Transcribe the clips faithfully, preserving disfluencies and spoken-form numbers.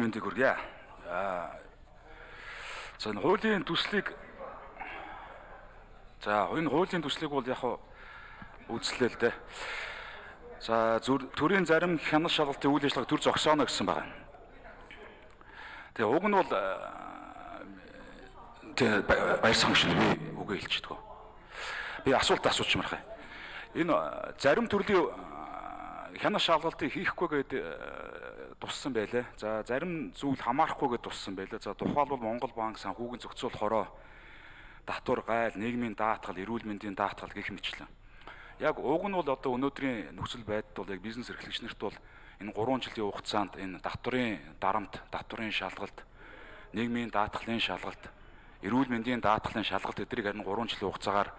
мэндийг хүргье. Аа. За энэ хуулийн төслийг За энэ хуулийн төслийг бол яг үзлээ л дээ. За төрийн зарим хянах шалгалтын үйл ажиллагааг төр зогсооно гэсэн байна. Тэгээ уг нь бол тэгээ баяр самшил би үгээ хэлчихдэг. Би асуулт асуучмаар хаа. Энэ зарим төрлийн хянах шалгалтыг хийхгүй гэдэг туссан байлаа. За зарим зүйл хамаарахгүй гэдэг туссан байлаа. За тухайлбал Монгол банк санхүүгийн зохицуулах хороо, татвар, гайл, нийгмийн даатгал, эрүүл мэндийн даатгал гэх мэтлэн. Яг уг нь бол одоо өнөөдрийн нөхцөл байдалд бол яг бизнес эрхлэгчнэрт бол энэ гурван жилийн хугацаанд энэ татварын дарамт, татварын шалгалт, нийгмийн даатгалын шалгалт, эрүүл мэндийн даатгалын шалгалт эднийг харин гурван жилийн хугацаагаар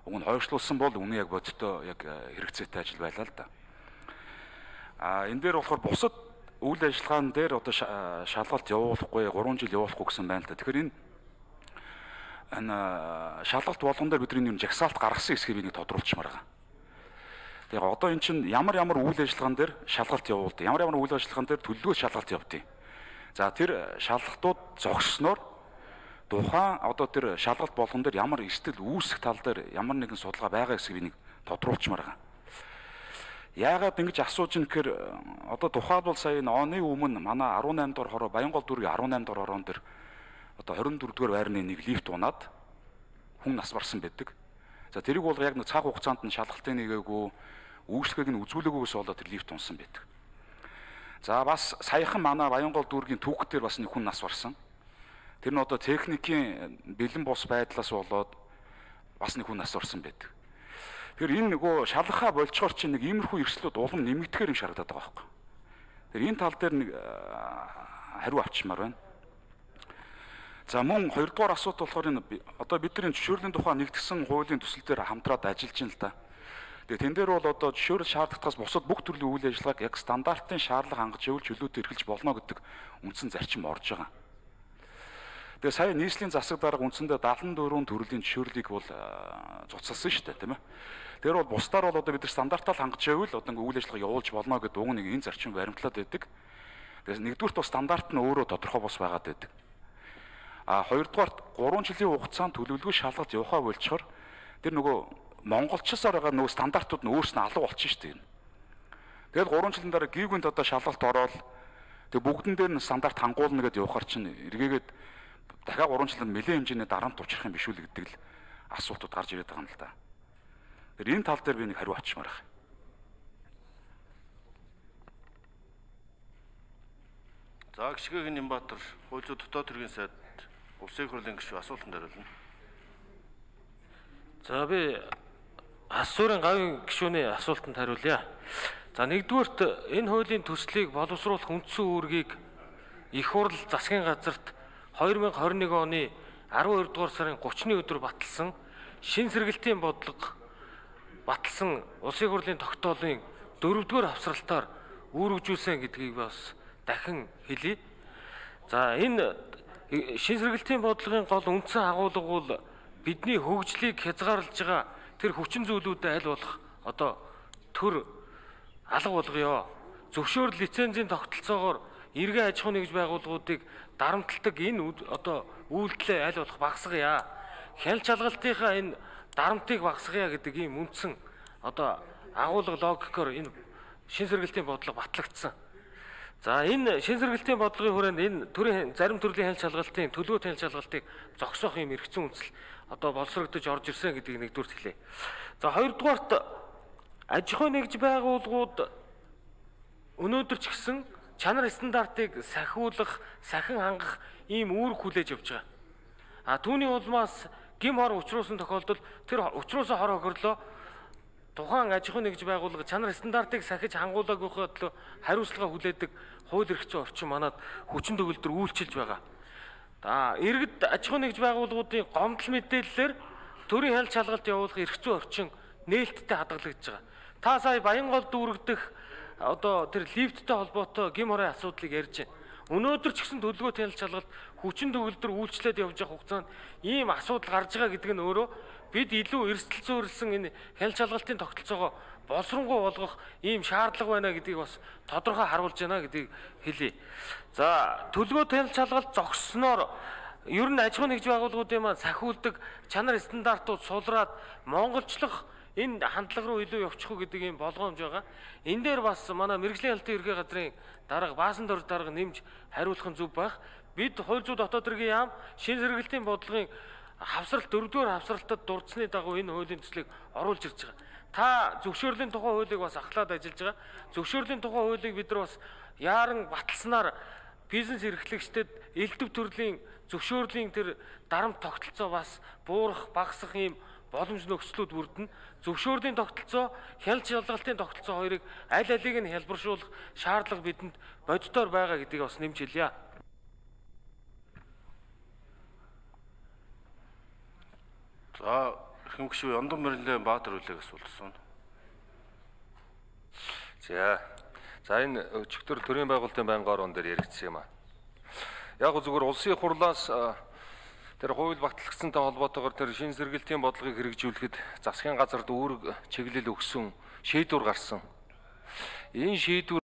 уг нь хойшлуулсан бол үнэн яг бодиттой яг хэрэгцээтэй ажил байлаа л да. А энэ дээр болохоор бусад үйл ажиллагаан дээр одоо шалгалт явуулахгүй, гурван жил явуулахгүй гэсэн байна л да. Тэгэхээр энэ энэ шалгалт болгон дээр бидний юм жагсаалт гаргасан хэсгийг би нэг тодруулчмаар байгаа. Тэгээ одоо эн чинь ямар ямар үйл ажиллагаан дээр шалгалт явуулдаг, ямар ямар үйл ажиллагаан дээр төлөвлөгөө шалгалт явуулдаг. За тэр шалгалтууд зогссноор тухайн одоо тэр шалгалт болгон дээр ямар эрсдэл үүсэх тал дээр ямар нэгэн судалгаа байгаа гэсгийг би нэг тодруулчмаар байгаа. Яагаад ингэж асууж ин гэхээр одоо тухайлбал сая оны өмнө манай арван наймд дугаар хороо Баянгол дүүргийн арван наймд дугаар хороон дээр одоо хорин дөрөвдүгээр байрны нэг лифт унаад хүн нас барсан байдаг. За тэрийг бол яг нэг цаг хугацаанд нь шалгалтын нэгээгүй үйлчлэгийг нь үзүүлээгүйгээс болоод тэр лифт унсан байдаг. За бас саяхан манай Баянгол дүүргийн түүх дээр бас нэг хүн нас барсан. Тэр нь одоо техникийн бэлэн бос байдлаас болоод бас нэг хүн нас барсан байдаг. Тэгэхээр энэ нөгөө шалгахаа болцохоор чинь нэг иймэрхүү эрсдлүүд улам нэмэгдэхээр юм шаардаад байгаа байхгүй. Тэгэхээр энэ тал дээр нэг хариу авчмаар байна. За мөн хоёрдугаар асуудал болохоор энэ одоо бидний зөвшөөрлийн тухай нэгдсэн хуулийн төсөл дээр хамтраад ажиллаж байна л да. Тэгээ тэн дээр бол одоо зөвшөөрөл шаардлагатаас бусад бүх төрлийн үйл ажиллагааг яг стандартын шаардлага хангаж явуул чөлөөтэй эрхэлж болно гэдэг үндсэн зарчим орж байгаа. Тэгээ сая нийслэлийн засаг дарга үндсэндээ даатгалын дөрвөн төрлийн зөвшөөрлийг бол цуцалсан шүү дээ, тийм ээ. Тэр бол бусдаар бол одоо бид нар стандартаар хангаж явуул одоо үйл ажиллагаа явуулж болно гэдэг уг нэг энэ зарчим баримтлаад байдаг. Тэгээ нэгдүгürt бол стандарт нь өөрөө тодорхой бос байгаад байдаг. А хоёрдугаарт гурван жилийн хугацаанд төлөвлөгөө шалгалт явахаа болчоор тэр нөгөө монголчсаар байгаа нөгөө стандартууд нь өөрснөө алга болчихно шүү дээ. Тэгэл гурван жилийн дараа гівгүнд одоо шалгалт ороод тэг бүгдэн дээр нь стандарт хангуулна гэдээ явахаар чинь эргээгээд дахиад гурван жилд нэлээд хэмжээний дарамт учрах юм биш үү гэдэг л асуултууд гарч ирээд байгаа юм л да. Тэр энэ тал дээр би нэг хариу авчмаар байна. За гişгэг Нямбатар хууль зүйн дотоод хэргийн сайд улсын их хурлын гишүүн асуултанд хариулна. За би Асуурын гавийн гишүүний асуултанд хариулъя. За нэгдүгээрт энэ хуулийн төслийг боловсруулах үндсэн үүргийг их хурл засгийн газарт две тысячи двадцать один оны арван хоёр дугаар сарын гуравны өдөр баталсан шин сэргэлтийн бодлого баталсан улсын их хурлын тогтоолын дөрөвдүгээр хавсралтаар үүргэжүүлсэн гэдгийг бас дахин хэлье. За энэ шин сэргэлтийн бодлогын гол үндсэн агуулга бол бидний хөгжлийг хязгаарлаж байгаа тэр хүчин зүйлүүдэд аль болох одоо төр алга болгоё. Зөвшөөрөл лицензийн тогтолцоогоор эргэн аж ахуйн нэгж байгууллагуудыг дарамтлагдаг энэ одоо үйлдэлээ аль болох багасгая. Хяналт шалгалтынхаа энэ дарамтыг багасгая гэдэг ийм үндсэн одоо агуулга логикоор энэ шин сэргэлтийн бодлого батлагдсан. За энэ шин сэргэлтийн бодлогын хүрээнд энэ төрийн зарим төрлийн хяналт шалгалтын төлөвлөгөө хяналт шалгалтыг зогсоох юм эргэцэн үндэслэл одоо боловсрогдож орж ирсэн гэдгийг нэгдүгээр хэлье. За хоёрдугаарт аж ахуйн нэгж байгууллагууд өнөөдөр ч гэсэн чанар стандартыг сахиулах, сахин хангах ийм үүрэг хүлээж авч байгаа. А түүний улмаас гим хор учруулсан тохиолдолд тэр учруулсан хор хохирлоо тухайн аж ахуйн нэгж байгууллага чанар стандартыг сахиж хангуулаагүй хөдлөө хариуцлага хүлээдэг хууль эрх зүйн орчин манад хүчин төгөлдөр үйлчилж байгаа. За иргэд аж ахуйн нэгж байгууллагуудын гомдол мэдээллээр төрийн хяналт шалгалт явуулах эрх зүйн орчин нээлттэй хадгалагдж байгаа. Та сая Баянгол дүүргдэх одоо тэр лифттэй холбоотой гим хорын асуудлыг ярьж байна. Өнөөдөр ч гэсэн төлөвлөгөө хяналт шалгалт хүчин төгөлдөр үйлчлээд явж байгаа хугацаанд ийм асуудал гарч байгаа гэдэг нь өөрөө бид илүү эрсдэл зүйрлсэн энэ хяналт шалгалтын тогтолцоогоо боловсронгуй болгох ийм шаардлага байна гэдгийг бас тодорхой харуулж байна гэдгийг хэлье. За төлгөө танил шалгалт зогссноор ер нь аж ахуй нэгж байгууллагуудын маань сахиулдаг чанар стандартууд сулраад монголчлох энэ хандлага руу илүү явчих уу гэдэг ийм болгоомж байгаа. Энэ дээр бас манай мэрэгжлийн хяналтын ерхий газрын дарга Баасан Дорж дарга нэмж хариулах нь зөв байх. Бид хууль зүйн дотоод хэргийн яам шин сэргэлтийн бодлогын хавсралт дөрөвдүгээр хавсралтад дурдсны дагуу энэ хуулийн төслийг оруулж ирж байгаа. Та зөвшөөрлийн тухай хуулийг бас ахлаад ажиллаж байгаа. Зөвшөөрлийн тухай хуулийг бид нар бас яаран баталснаар бизнес эрхлэгчдэд элдв төрлийн зөвшөөрлийн тэр дарамт тогтолцоо бас буурах, багасах ийм боломж нөхцлүүд бүрдэнэ. Зөвшөөрлийн тогтолцоо, хяналт шалгалтын тогтолцоо хоёрыг аль алиг нь хялбаршуулах шаардлага бидэнд бодитоор байгаа гэдгийг бас нэмж хэлье. За эрхэм гишүүн Ондон Мэрилэн Баатар үлээг асуулсан. За. За энэ өчигдөр төрийн байгуулалтын байнгын орон дээр яригдсан юм аа. Яг зүгээр улсын хурлаас тэр хууль батлагдсантай холбоотойгоор тэр шин сэргэлтийн бодлогыг хэрэгжүүлэхэд засгийн газарт үүрэг чиглэл өгсөн шийдвэр гарсан. Энэ шийдвэр